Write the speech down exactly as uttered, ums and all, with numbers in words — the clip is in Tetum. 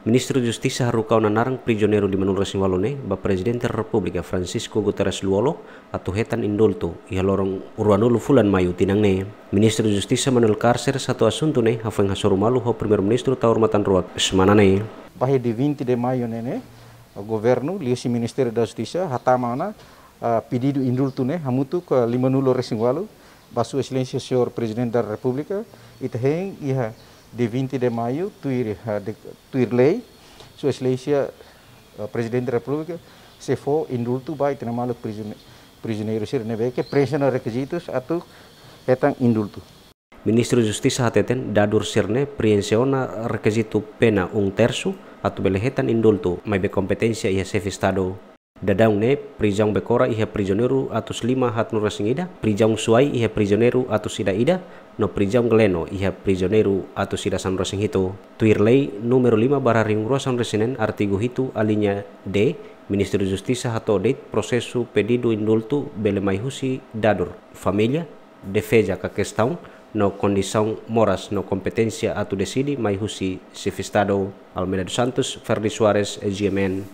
Ministru Justisa haruka ona naran prizioneiru lima nulu resin walu ne'e ba Prezidente Repúblika Francisco Guterres Lú-Olo atu hetan indultu iha loron ruanulu fulan Maiu tinan ne'e. Ministru Justisa Manuel Carceres hato'o asuntu ne'e hafoin hasoru malu ho Primeiru-Ministru Taur Matan Ruak semana ne'e. Ba iha dia vinte de maio ne'e, governu liuhusi Ministériu da Justisa hatama ona, ah, pedidu indultu ne'e hamutuk lima nulu resin walu ba Sua Exelénsia Señór Prezidente da Repúblika. Ita hein iha dia vinte de maio tuir, ah, de, tuir lei, Sua Exelénsia, ah, Prezidente da Repúblika sei fó indultu ba ita-nia maluk prizione-, prizioneiru sira ne'ebé ke preenxe ona rekizitus atu hetan indultu. Ministru Justisa hateten dadur sira-ne'e preenxe ona rekizitu pena um terço atu bele hetan indultu, maibé kompeténsia iha Xefe Estadu. Daudaun ne'e prizaun Becora iha prizioneiru atus lima haat nulu resin ida, prizaun Suai iha prizioneiru atus ida ida, no prizaun Gleno iha prizioneiru atus ida sanulu resin hitu. Tuir lei númeru lima barra rihun rua sanulu resin neen, artigu hitu, alínea D, Ministru Justisa hato'o de'it prosesu pedidu indultu bele mai husi dadur, família, defeza ka kestaun no kondisaun moras no kompeténsia atu deside mai husi Xefe Estadu. Almeida dos Santos, Ferdi Soares, G M N.